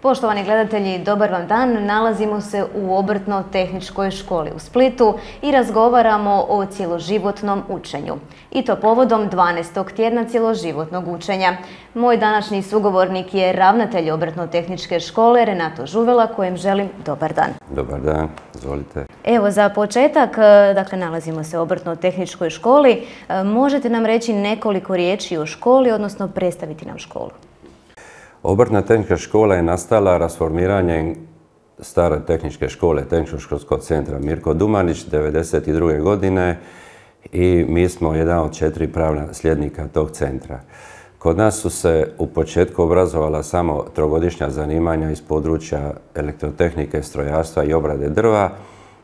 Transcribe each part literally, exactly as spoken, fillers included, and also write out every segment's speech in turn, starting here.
Poštovani gledatelji, dobar vam dan. Nalazimo se u Obrtno-tehničkoj školi u Splitu i razgovaramo o cjeloživotnom učenju. I to povodom dvanaestog tjedna cjeloživotnog učenja. Moj današnji sugovornik je ravnatelj Obrtno-tehničke škole Renato Žuvela, kojem želim dobar dan. Dobar dan, izvolite. Evo, za početak, dakle, nalazimo se u Obrtno-tehničkoj školi. Možete nam reći nekoliko riječi o školi, odnosno predstaviti nam školu? Obrtna tehnička škola je nastala rasformiranjem stare tehničke škole, Tehničko-školskog centra Mirko Dumanić, devedeset druge godine i mi smo jedan od četiri pravna sljednika tog centra. Kod nas su se u početku obrazovala samo trogodišnja zanimanja iz područja elektrotehnike, strojarstva i obrade drva,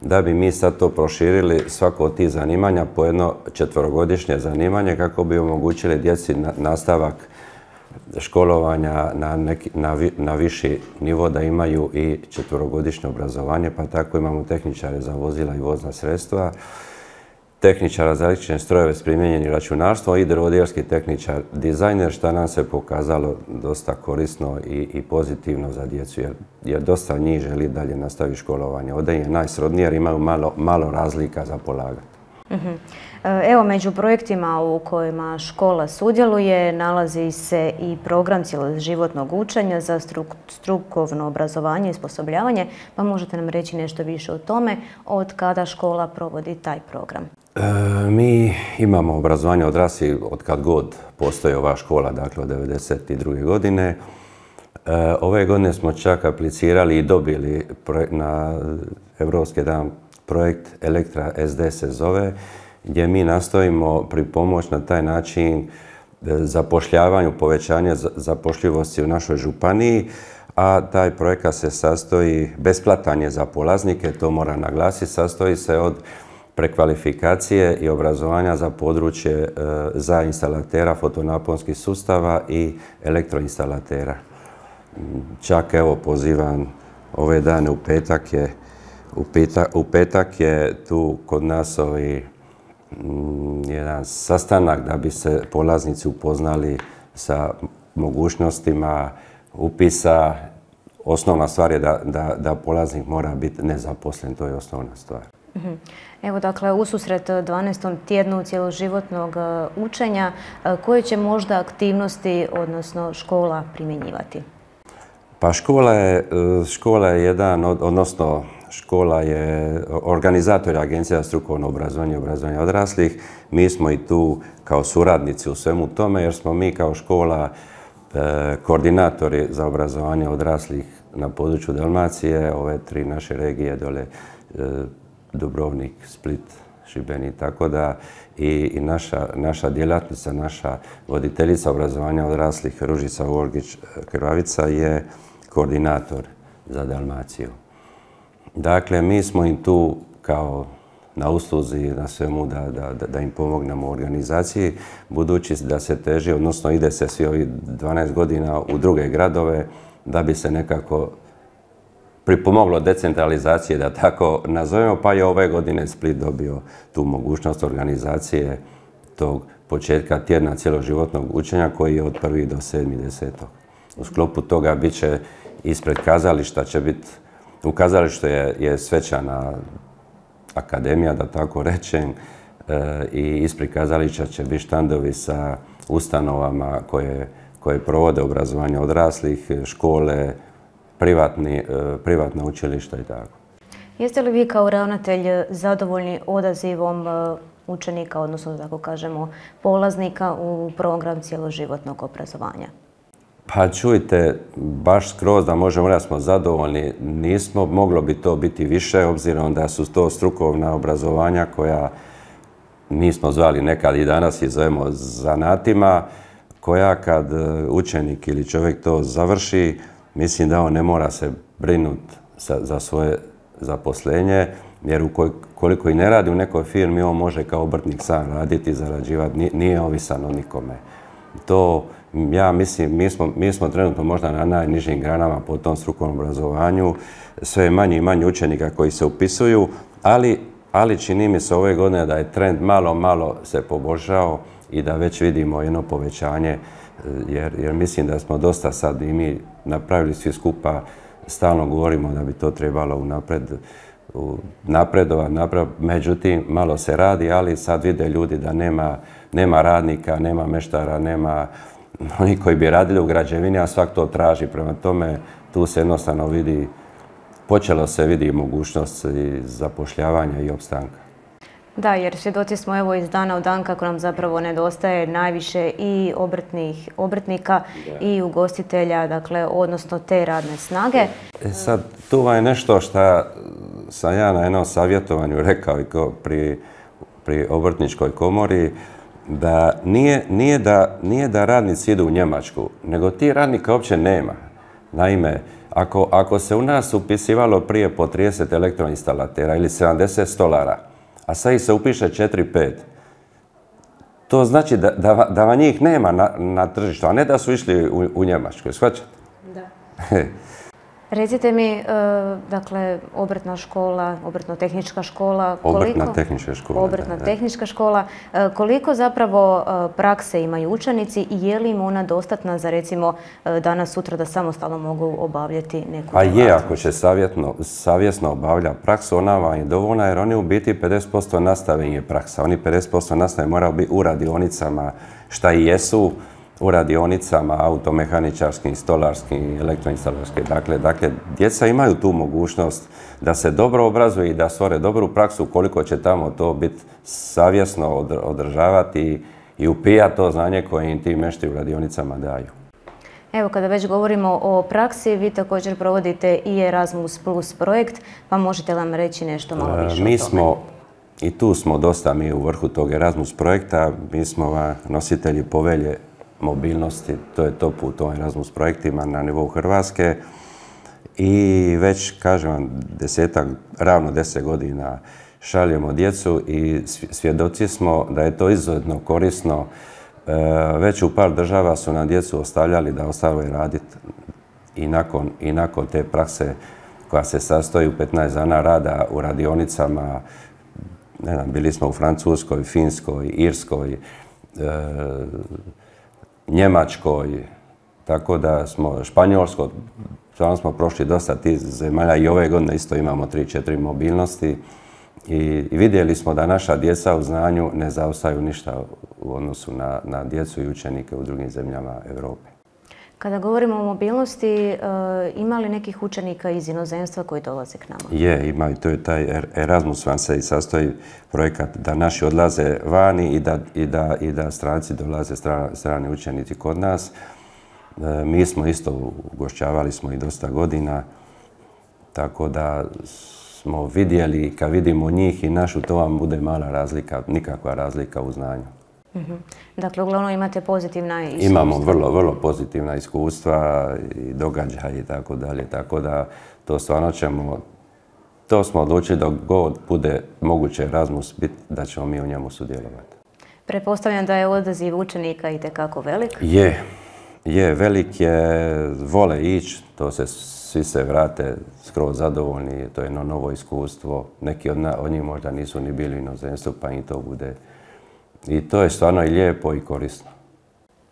da bi mi sad to proširili svako od tih zanimanja po jedno četverogodišnje zanimanje kako bi omogućili djeci nastavak školovanja na, neki, na, vi, na viši nivo, da imaju i četverogodišnje obrazovanje, pa tako imamo tehničare za vozila i vozna sredstva, tehničara za električne strojeve s primijenjenim računarstvom i drvodjelski tehničar dizajner, što nam se pokazalo dosta korisno i, i pozitivno za djecu, jer, jer dosta njih želi dalje nastaviti školovanje. Ovdje je najsrodnije jer imaju malo, malo razlika za polagati. Uh-huh. Evo, među projektima u kojima škola sudjeluje nalazi se i program cjeloživotnog učenja za struk, strukovno obrazovanje i osposobljavanje, pa možete nam reći nešto više o tome, od kada škola provodi taj program? E, mi imamo obrazovanje odraslih od kad god postoji ova škola, dakle od devedeset druge godine. E, ove godine smo čak aplicirali i dobili na Evropski dan projekt Elektra S D se zove, gdje mi nastojimo pripomoći na taj način zapošljavanju, povećanja zapošljivosti u našoj županiji, a taj projekat se sastoji, besplatan je za polaznike, to mora naglasiti, sastoji se od prekvalifikacije i obrazovanja za područje za instalatera fotonaponskih sustava i elektroinstalatera. Čak evo pozivam ove dane u petak je U petak, u petak je tu kod nas ovi, m, jedan sastanak da bi se polaznici upoznali sa mogućnostima upisa. Osnovna stvar je da, da, da polaznik mora biti nezaposlen, to je osnovna stvar. Evo, dakle, ususret dvanaestom tjednu cjeloživotnog učenja, koje će možda aktivnosti, odnosno škola, primjenjivati? Pa škola je, škola je jedan, od, odnosno škola je organizator Agencija za strukovno obrazovanje i obrazovanje odraslih. Mi smo i tu kao suradnici u svemu tome, jer smo mi kao škola e, koordinatori za obrazovanje odraslih na području Dalmacije, ove tri naše regije dole, e, Dubrovnik, Split, Šibenik, tako da i, i naša, naša djelatnica, naša voditeljica obrazovanja odraslih Ružica Vorgić-Krvavica je koordinator za Dalmaciju. Dakle, mi smo im tu kao na usluzi, na svemu da, da, da im pomognemo u organizaciji, budući da se teži, odnosno ide se svi ovih dvanaest godina u druge gradove, da bi se nekako pripomoglo decentralizacije, da tako nazovemo, pa je ove godine Split dobio tu mogućnost organizacije tog početka tjedna cjeloživotnog učenja koji je od prvog do sedmog desetog U sklopu toga bit će ispred kazališta, će biti u kazalištu je, je svečana akademija, da tako rečem, e, i ispred kazališta će biti štandovi sa ustanovama koje, koje provode obrazovanje odraslih, škole, privatni, e, privatna učilišta i tako. Jeste li vi kao ravnatelj zadovoljni odazivom učenika, odnosno da tako kažemo polaznika u program cjeloživotnog obrazovanja? Pa čujte, baš skroz da možemo reći da smo zadovoljni, nismo, moglo bi to biti više, obzirom da su to strukovna obrazovanja koja mi smo zvali nekad i danas i zovemo zanatima, koja kad učenik ili čovjek to završi, mislim da on ne mora se brinuti za svoje zaposlenje, jer ukoliko i ne radi u nekoj firmi, on može kao obrtnik sam raditi i zarađivati, nije ovisan o nikome. To, ja mislim, mi smo, mi smo trenutno možda na najnižim granama po tom strukovnom obrazovanju, sve je manje i manje učenika koji se upisuju, ali, ali čini mi se ove godine da je trend malo, malo se poboljšao i da već vidimo jedno povećanje, jer, jer mislim da smo dosta sad i mi napravili svi skupa, stalno govorimo da bi to trebalo unapred napredovati, međutim malo se radi, ali sad vide ljudi da nema, nema radnika, nema meštara, nema oni koji bi radili u građevini, a svak to traži. Prema tome, tu se jednostavno vidi, počelo se vidi mogućnost zapošljavanja i opstanka. Da, jer svjedoci smo evo iz dana u dan kako nam zapravo nedostaje najviše i obrtnih, obrtnika da. I ugostitelja, dakle, odnosno te radne snage. E sad, tu vam je nešto što sam ja na jednom savjetovanju rekao i pri, pri obrtničkoj komori, da nije, nije da nije da radnici idu u Njemačku, nego ti radnika uopće nema. Naime, ako, ako se u nas upisivalo prije po trideset elektroinstalatera ili sedamdeset stolara, a sad ih se upiše četiri pet, to znači da, da, da vam njih nema na, na tržištu, a ne da su išli u, u Njemačku. Shvaćate? Da. Recite mi, dakle, obrtna škola, obrtno-tehnička škola, koliko... Obrtna tehnička škola. Obrtna tehnička škola. Koliko zapravo prakse imaju učenici i je li im ona dostatna za, recimo, danas, sutra da samostalno mogu obavljati neku djelatnost? A je, ako će savjetno, savjesno obavlja praksu, ona vam je dovoljna jer oni u biti pedeset posto nastave im je praksa. Oni pedeset posto nastave moraju biti u radionicama šta i jesu, u radionicama, automehaničarskim, stolarskim, elektroinstalarskim. Dakle, dakle, djeca imaju tu mogućnost da se dobro obrazuju i da stvore dobru praksu koliko će tamo to biti savjesno održavati i upijati to znanje koje im ti mešti u radionicama daju. Evo, kada već govorimo o praksi, vi također provodite i Erasmus Plus projekt, pa možete nam reći nešto malo više o tome? Mi smo, i tu smo dosta mi u vrhu tog Erasmus projekta, mi smo nositelji povelje mobilnosti, to je to put u Erasmus projektima na nivou Hrvatske i već, kažem vam, desetak, ravno deset godina šaljemo djecu i svjedoci smo da je to izuzetno korisno. Već u par država su nam djecu ostavljali da ostave raditi i nakon, i nakon te prakse koja se sastoji u petnaest dana rada u radionicama. Ne znam, bili smo u Francuskoj, Finskoj, Irskoj, e, Njemačkoj, tako da smo Španjolsko, stvarno smo prošli dosta tih zemalja i ove godine isto imamo tri četiri mobilnosti i, i vidjeli smo da naša djeca u znanju ne zaostaju ništa u odnosu na, na djecu i učenike u drugim zemljama Europe. Kada govorimo o mobilnosti, ima li nekih učenika iz inozemstva koji dolaze k nama? Je, ima i to je taj Erasmus vam se i sastoji projekat da naši odlaze vani i da, i da, i da stranci dolaze, strani, strani učenici kod nas. Mi smo isto ugošćavali smo i dosta godina, tako da smo vidjeli, kad vidimo njih i našu, to vam bude mala razlika, nikakva razlika u znanju. Mm-hmm. Dakle, uglavnom imate pozitivna iskustva? Imamo vrlo, vrlo pozitivna iskustva i događaje i tako dalje, tako da to stvarno ćemo, to smo odlučili dok god bude moguće Erasmus biti, da ćemo mi u njemu sudjelovati. Pretpostavljam da je odaziv učenika itekako velik? Je, je, velik je, vole ići, to se, svi se vrate skroz zadovoljni, to je jedno novo iskustvo, neki od, na, od njih možda nisu ni bili u inozemstvu, pa im to bude. I to je stvarno i lijepo i korisno.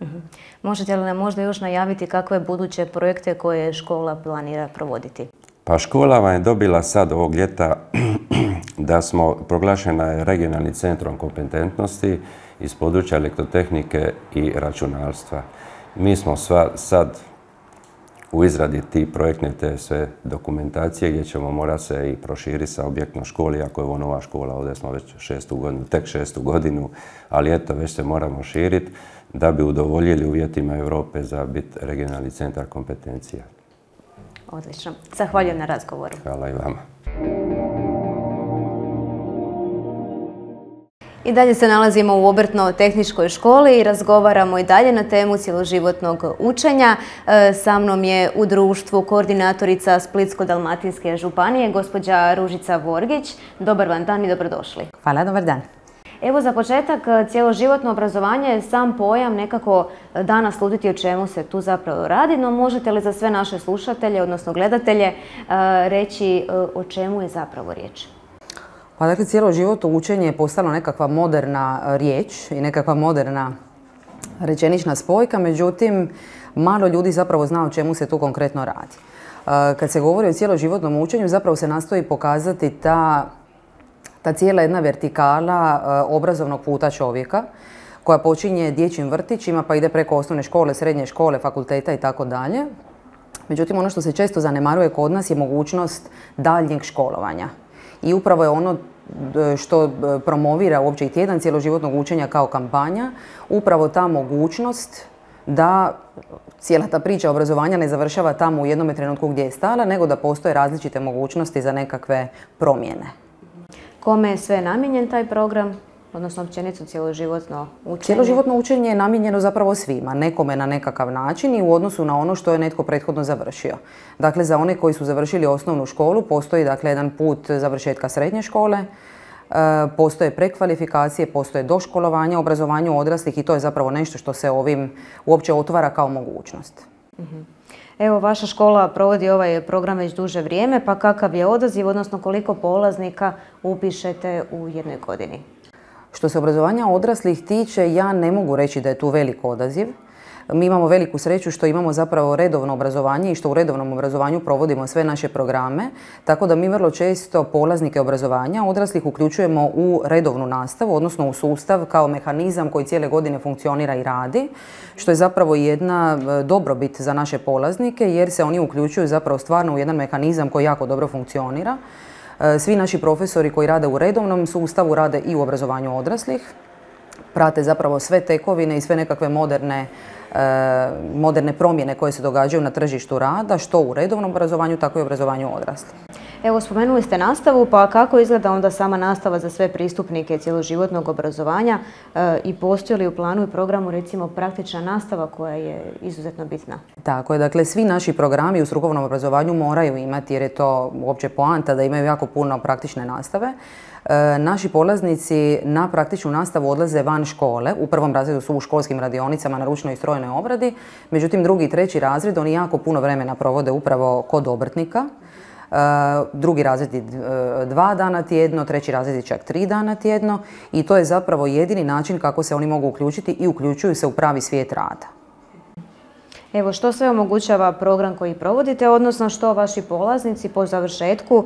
Mm-hmm. Možete li nam možda još najaviti kakve buduće projekte koje škola planira provoditi? Pa škola vam je dobila sad ovog ljeta da smo proglašena regionalnim centrom kompetentnosti iz područja elektrotehnike i računalstva. Mi smo sva, sad u izradi ti projektne te sve dokumentacije gdje ćemo morati se i proširiti sa objektnom školi, ako je ovo nova škola, ovdje smo već šestu godinu, tek šestu godinu, ali eto, već se moramo širiti da bi udovoljili uvjetima Europe za biti regionalni centar kompetencija. Odlično. Zahvaljujem na razgovoru. Hvala i vama. I dalje se nalazimo u obrtno-tehničkoj školi i razgovaramo i dalje na temu cjeloživotnog učenja. Sa mnom je u društvu koordinatorica Splitsko-dalmatinske županije, gospođa Ružica Vorgić. Dobar vam dan i dobrodošli. Hvala, dobar dan. Evo za početak, cjeloživotno obrazovanje je sam pojam, nekako da naslutiti o čemu se tu zapravo radi, no možete li za sve naše slušatelje, odnosno gledatelje, reći o čemu je zapravo riječ? Pa dakle, cjeloživotno učenje je postalo nekakva moderna riječ i nekakva moderna rečenična spojka, međutim, malo ljudi zapravo zna o čemu se tu konkretno radi. Kad se govori o cjeloživotnom učenju, zapravo se nastoji pokazati ta, ta cijela jedna vertikala obrazovnog puta čovjeka, koja počinje dječjim vrtićima pa ide preko osnovne škole, srednje škole, fakulteta i tako dalje. Međutim, ono što se često zanemaruje kod nas je mogućnost daljnjeg školovanja. I upravo je ono što promovira uopće i tjedan cjeloživotnog učenja kao kampanja, upravo ta mogućnost da cijela ta priča obrazovanja ne završava tamo u jednom trenutku gdje je stala, nego da postoje različite mogućnosti za nekakve promjene. Kome je sve namijenjen taj program? Odnosno općenito cjeloživotno učenje? Cjeloživotno učenje je namijenjeno zapravo svima, nekome na nekakav način i u odnosu na ono što je netko prethodno završio. Dakle, za one koji su završili osnovnu školu postoji dakle jedan put završetka srednje škole, e, postoje prekvalifikacije, postoje doškolovanja, obrazovanju odraslih i to je zapravo nešto što se ovim uopće otvara kao mogućnost. Mhm. Evo, vaša škola provodi ovaj program već duže vrijeme, pa kakav je odaziv, odnosno koliko polaznika upišete u jednoj godini? Što se obrazovanja odraslih tiče, ja ne mogu reći da je tu velik odaziv. Mi imamo veliku sreću što imamo zapravo redovno obrazovanje i što u redovnom obrazovanju provodimo sve naše programe, tako da mi vrlo često polaznike obrazovanja odraslih uključujemo u redovnu nastavu, odnosno u sustav kao mehanizam koji cijele godine funkcionira i radi, što je zapravo jedna dobrobit za naše polaznike jer se oni uključuju zapravo stvarno u jedan mehanizam koji jako dobro funkcionira. Svi naši profesori koji rade u redovnom sustavu rade i u obrazovanju odraslih, prate zapravo sve tekovine i sve nekakve moderne, e, moderne promjene koje se događaju na tržištu rada, što u redovnom obrazovanju, tako i u obrazovanju odraslih. Evo, spomenuli ste nastavu, pa kako izgleda onda sama nastava za sve pristupnike cjeloživotnog obrazovanja e, i postoji li u planu i programu recimo praktična nastava koja je izuzetno bitna? Tako je, dakle svi naši programi u strukovnom obrazovanju moraju imati, jer je to uopće poanta da imaju jako puno praktične nastave. E, naši polaznici na praktičnu nastavu odlaze van škole, u prvom razredu su u školskim radionicama na ručnoj i strojnoj obradi, međutim drugi i treći razred oni jako puno vremena provode upravo kod obrtnika. Uh, drugi razred je uh, dva dana tjedno, treći razred je čak tri dana tjedno i to je zapravo jedini način kako se oni mogu uključiti i uključuju se u pravi svijet rada. Evo, što sve omogućava program koji provodite, odnosno što vaši polaznici po završetku uh,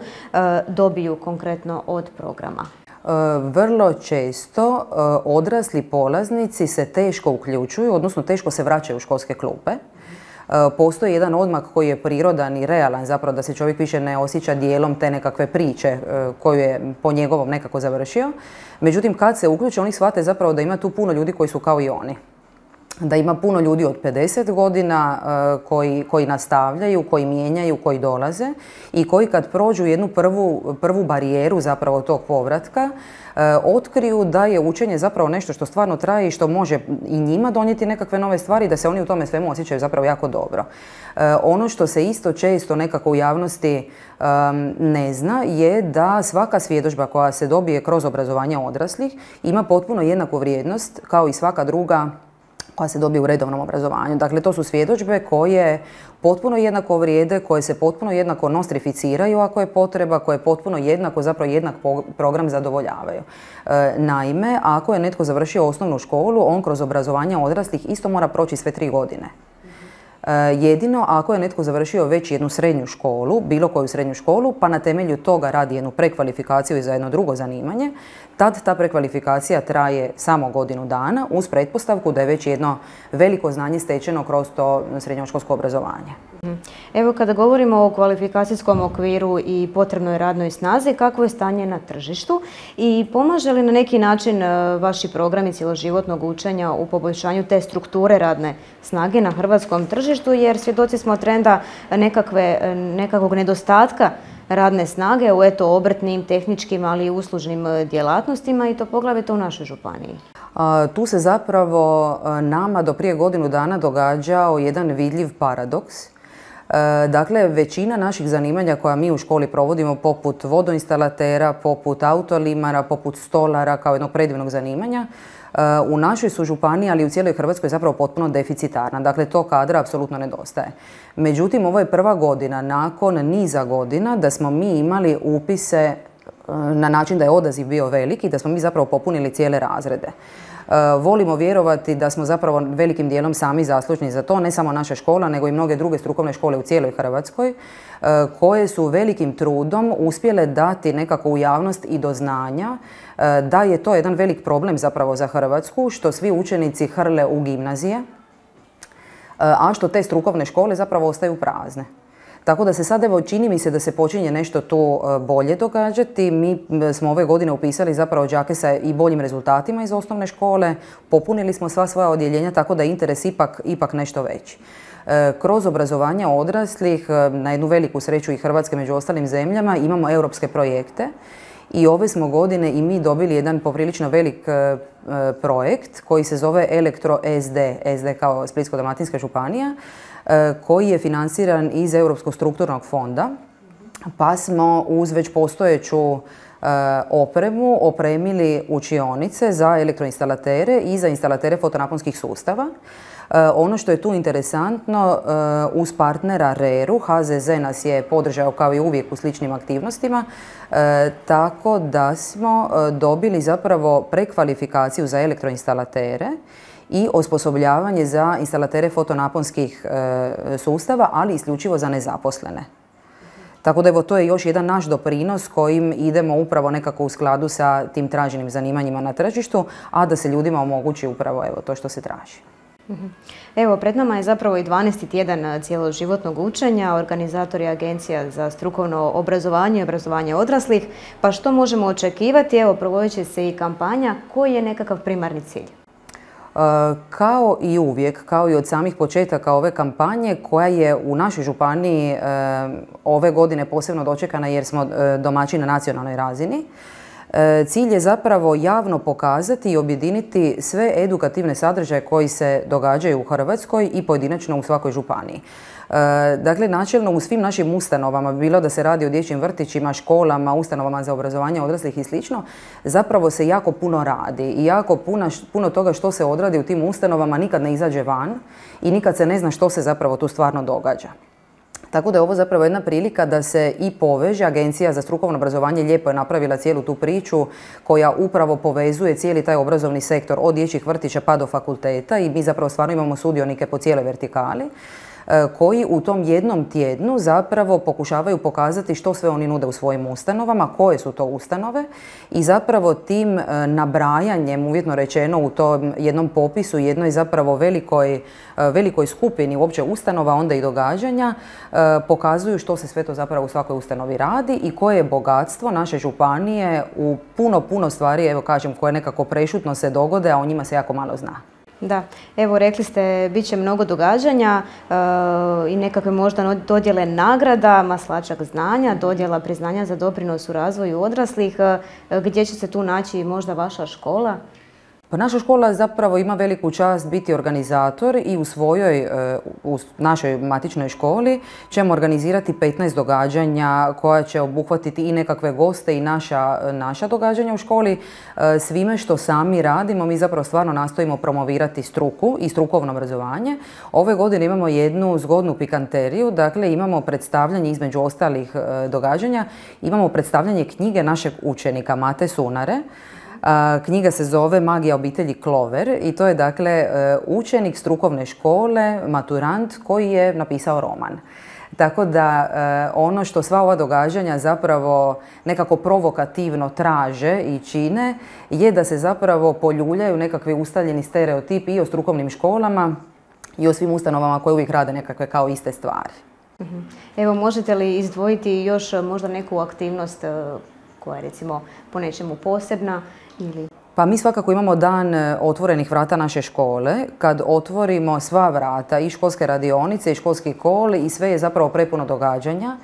dobiju konkretno od programa? Uh, vrlo često uh, odrasli polaznici se teško uključuju, odnosno teško se vraćaju u školske klupe. Postoji jedan odmak koji je prirodan i realan, zapravo da se čovjek više ne osjeća dijelom te nekakve priče koju je po njegovom nekako završio. Međutim, kad se uključe, oni shvate zapravo da ima tu puno ljudi koji su kao i oni. Da ima puno ljudi od pedeset godina koji, koji nastavljaju, koji mijenjaju, koji dolaze i koji kad prođu jednu prvu, prvu barijeru zapravo tog povratka, otkriju da je učenje zapravo nešto što stvarno traje i što može i njima donijeti nekakve nove stvari, da se oni u tome svemu osjećaju zapravo jako dobro. Ono što se isto često nekako u javnosti ne zna je da svaka svjedodžba koja se dobije kroz obrazovanje odraslih ima potpuno jednaku vrijednost kao i svaka druga koja se dobije u redovnom obrazovanju. Dakle, to su svjedodžbe koje potpuno jednako vrijede, koje se potpuno jednako nostrificiraju ako je potreba, koje potpuno jednako, zapravo jednak program zadovoljavaju. E, naime, ako je netko završio osnovnu školu, on kroz obrazovanje odraslih isto mora proći sve tri godine. E, jedino ako je netko završio već jednu srednju školu, bilo koju srednju školu, pa na temelju toga radi jednu prekvalifikaciju i za jedno drugo zanimanje, tad ta prekvalifikacija traje samo godinu dana uz pretpostavku da je već jedno veliko znanje stečeno kroz to srednjoškolsko obrazovanje. Evo, kada govorimo o kvalifikacijskom okviru i potrebnoj radnoj snazi, kakvo je stanje na tržištu i pomaže li na neki način vaši programi cjeloživotnog učenja u poboljšanju te strukture radne snage na hrvatskom tržištu, jer svjedoci smo trenda nekakve, nekakvog nedostatka radne snage u eto obrtnim, tehničkim, ali i uslužnim djelatnostima i to poglavito u našoj županiji. A, tu se zapravo nama do prije godinu dana događao jedan vidljiv paradoks. E, dakle, većina naših zanimanja koja mi u školi provodimo, poput vodoinstalatera, poput autolimara, poput stolara kao jednog predivnog zanimanja, u našoj su županiji, ali i u cijeloj Hrvatskoj zapravo potpuno deficitarna. Dakle, to kadra apsolutno nedostaje. Međutim, ovo je prva godina nakon niza godina da smo mi imali upise na način da je odaziv bio velik i da smo mi zapravo popunili cijele razrede. Volimo vjerovati da smo zapravo velikim dijelom sami zaslužni za to, ne samo naša škola, nego i mnoge druge strukovne škole u cijeloj Hrvatskoj, koje su velikim trudom uspjele dati nekako u javnost i do znanja da je to jedan velik problem zapravo za Hrvatsku, što svi učenici hrle u gimnazije, a što te strukovne škole zapravo ostaju prazne. Tako da se sad, evo, čini mi se da se počinje nešto tu bolje događati. Mi smo ove godine upisali zapravo đake sa i boljim rezultatima iz osnovne škole, popunili smo sva svoja odjeljenja, tako da je interes ipak, ipak nešto veći. Kroz obrazovanje odraslih, na jednu veliku sreću i Hrvatske među ostalim zemljama, imamo europske projekte i ove smo godine i mi dobili jedan poprilično velik projekt koji se zove Elektro S D, S D kao Splitsko-dalmatinska županija, koji je financiran iz Europskog strukturnog fonda, pa smo uz već postojeću opremu opremili učionice za elektroinstalatere i za instalatere fotonaponskih sustava. Ono što je tu interesantno, uz partnera reru, H Z Z nas je podržao kao i uvijek u sličnim aktivnostima, tako da smo dobili zapravo prekvalifikaciju za elektroinstalatere i osposobljavanje za instalatere fotonaponskih sustava, ali isključivo za nezaposlene. Tako da evo, to je još jedan naš doprinos kojim idemo upravo nekako u skladu sa tim traženim zanimanjima na tržištu, a da se ljudima omogući upravo evo to što se traži. Evo, pred nama je zapravo i dvanaesti tjedan cjeloživotnog učenja. Organizator je Agencija za strukovno obrazovanje i obrazovanje odraslih. Pa što možemo očekivati? Evo, provodit će se i kampanja. Koji je nekakav primarni cilj? Kao i uvijek, kao i od samih početaka ove kampanje, koja je u našoj županiji ove godine posebno dočekana jer smo domaći na nacionalnoj razini, cilj je zapravo javno pokazati i objediniti sve edukativne sadržaje koji se događaju u Hrvatskoj i pojedinačno u svakoj županiji. Dakle, načelno u svim našim ustanovama, bilo da se radi o dječjim vrtićima, školama, ustanovama za obrazovanje odraslih i slično, zapravo se jako puno radi i jako puno, puno toga što se odradi u tim ustanovama nikad ne izađe van i nikad se ne zna što se zapravo tu stvarno događa. Tako da je ovo zapravo jedna prilika da se i poveže. Agencija za strukovno obrazovanje lijepo je napravila cijelu tu priču koja upravo povezuje cijeli taj obrazovni sektor od dječjih vrtića pa do fakulteta i mi zapravo stvarno imamo sudionike po cijeloj vertikali koji u tom jednom tjednu zapravo pokušavaju pokazati što sve oni nude u svojim ustanovama, koje su to ustanove i zapravo tim nabrajanjem, uvjetno rečeno, u tom jednom popisu, jednoj zapravo velikoj, velikoj skupini uopće ustanova, onda i događanja, pokazuju što se sve to zapravo u svakoj ustanovi radi i koje je bogatstvo naše županije u puno, puno stvari, evo kažem, koje nekako prešutno se dogode, a o njima se jako malo zna. Da, evo rekli ste, bit će mnogo događanja e, i nekakve možda dodjele nagrada, maslačak znanja, dodjela priznanja za doprinos u razvoju odraslih. E, gdje će se tu naći možda vaša škola? Pa naša škola zapravo ima veliku čast biti organizator i u svojoj, u našoj matičnoj školi ćemo organizirati petnaest događanja koja će obuhvatiti i nekakve goste i naša, naša događanja u školi. Svime što sami radimo, mi zapravo stvarno nastojimo promovirati struku i strukovno obrazovanje. Ove godine imamo jednu zgodnu pikanteriju, dakle imamo predstavljanje između ostalih događanja, imamo predstavljanje knjige našeg učenika Mate Sunare. Knjiga se zove Magija obitelji Klover i to je dakle učenik strukovne škole, maturant koji je napisao roman. Tako da ono što sva ova događanja zapravo nekako provokativno traže i čine je da se zapravo poljuljaju nekakvi ustaljeni stereotipi i o strukovnim školama i o svim ustanovama koje uvijek rade nekakve kao iste stvari. Evo, možete li izdvojiti još možda neku aktivnost koja je recimo po nečemu posebna? Ili... Pa mi svakako imamo dan otvorenih vrata naše škole, kad otvorimo sva vrata i školske radionice i školski kol i sve je zapravo prepuno događanja.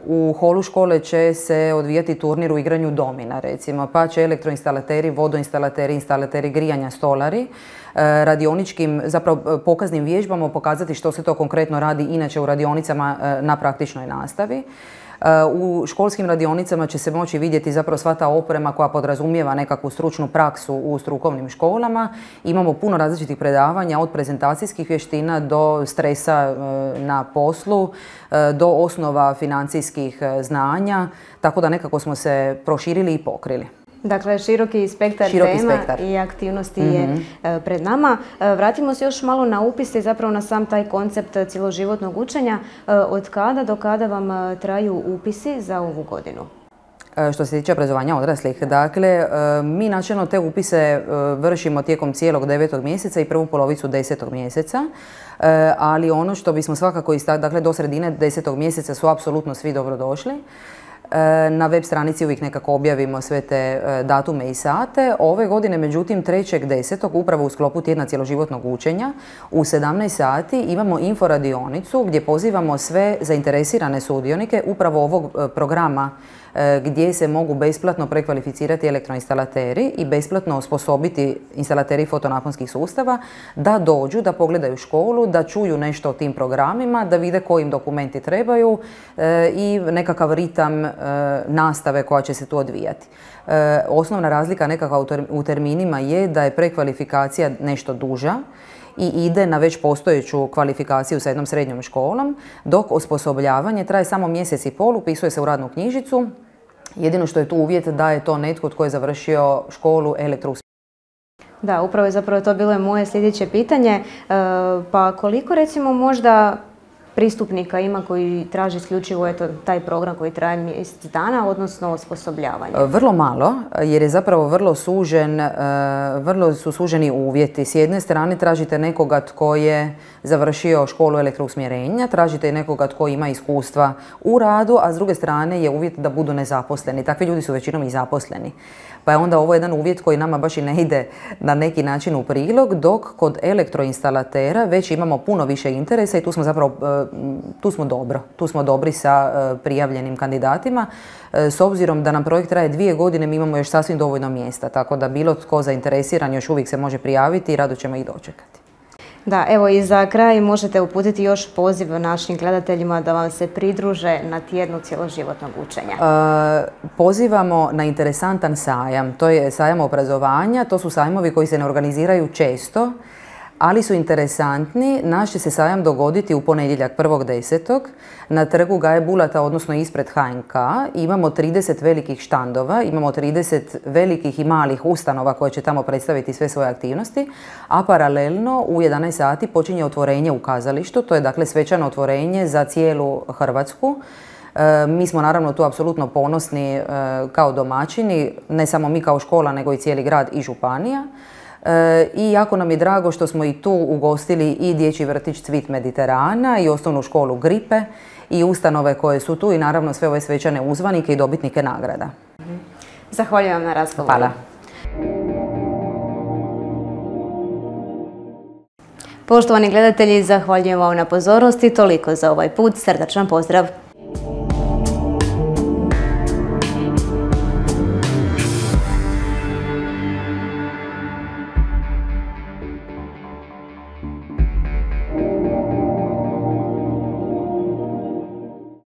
U holu škole će se odvijati turnir u igranju domina, recimo, pa će elektroinstalateri, vodoinstalateri, instalateri grijanja, stolari radioničkim, zapravo pokaznim vježbama pokazati što se to konkretno radi inače u radionicama na praktičnoj nastavi. U školskim radionicama će se moći vidjeti zapravo sva ta oprema koja podrazumijeva nekakvu stručnu praksu u strukovnim školama. Imamo puno različitih predavanja od prezentacijskih vještina do stresa na poslu, do osnova financijskih znanja, tako da nekako smo se proširili i pokrili. Dakle, široki spektar Široki tema spektar. i aktivnosti je pred nama. Vratimo se još malo na upise i zapravo na sam taj koncept cjeloživotnog učenja. Od kada do kada vam traju upisi za ovu godinu? Što se tiče obrazovanja odraslih, dakle, mi načelno te upise vršimo tijekom cijelog devetog mjeseca i prvu polovicu desetog mjeseca, ali ono što bismo svakako istakli, dakle, do sredine desetog mjeseca su apsolutno svi dobrodošli. Na web stranici uvijek nekako objavimo sve te datume i sate. Ove godine, međutim, trećeg desetog upravo u sklopu tjedna cjeloživotnog učenja, u sedamnaest sati imamo inforadionicu gdje pozivamo sve zainteresirane sudionike upravo ovog programa gdje se mogu besplatno prekvalificirati elektroinstalateri i besplatno osposobiti instalateri fotonaponskih sustava da dođu, da pogledaju školu, da čuju nešto o tim programima, da vide koji im dokumenti trebaju i nekakav ritam nastave koja će se tu odvijati. Osnovna razlika nekakva u terminima je da je prekvalifikacija nešto duža i ide na već postojeću kvalifikaciju sa jednom srednjom školom, dok osposobljavanje traje samo mjesec i pol, upisuje se u radnu knjižicu. Jedino što je tu uvjet da je to netko tko je završio školu elektrousmjerenja. Da, upravo je zapravo to bilo moje sljedeće pitanje. Pa koliko recimo možda pristupnika ima koji traži isključivo eto, taj program koji traje mjesec dana, odnosno osposobljavanje? Vrlo malo, jer je zapravo vrlo sužen, vrlo su suženi uvjeti. S jedne strane tražite nekoga tko je završio školu elektrousmjerenja, tražite i nekoga tko ima iskustva u radu, a s druge strane je uvjet da budu nezaposleni. Takvi ljudi su većinom i zaposleni. Pa je onda ovo jedan uvjet koji nama baš i ne ide na neki način u prilog, dok kod elektroinstalatera već imamo puno više interesa i tu smo zapravo tu smo dobro. Tu smo dobri sa prijavljenim kandidatima. S obzirom da nam projekt traje dvije godine, mi imamo još sasvim dovoljno mjesta, tako da bilo tko zainteresiran još uvijek se može prijaviti i rado ćemo ih dočekati. Da, evo i za kraj možete uputiti još poziv našim gledateljima da vam se pridruže na tjednu cjeloživotnog učenja. E, pozivamo na interesantan sajam. To je sajam obrazovanja. To su sajmovi koji se ne organiziraju često, ali su interesantni. Naš će se sajam dogoditi u ponedjeljak prvog desetog na trgu Gaje Bulata, odnosno ispred H N K. Imamo trideset velikih štandova, imamo trideset velikih i malih ustanova koje će tamo predstaviti sve svoje aktivnosti, a paralelno u jedanaest sati počinje otvorenje u kazalištu. To je dakle svečano otvorenje za cijelu Hrvatsku. E, mi smo naravno tu apsolutno ponosni e, kao domaćini, ne samo mi kao škola, nego i cijeli grad i županija. I jako nam je drago što smo i tu ugostili i dječji vrtić Cvit Mediterana i osnovnu školu Gripe i ustanove koje su tu i naravno sve ove svečane uzvanike i dobitnike nagrada. Zahvaljujem na razgovoru. Hvala. Poštovani gledatelji, zahvaljujem vam na pozornosti. Toliko za ovaj put. Srdačan pozdrav!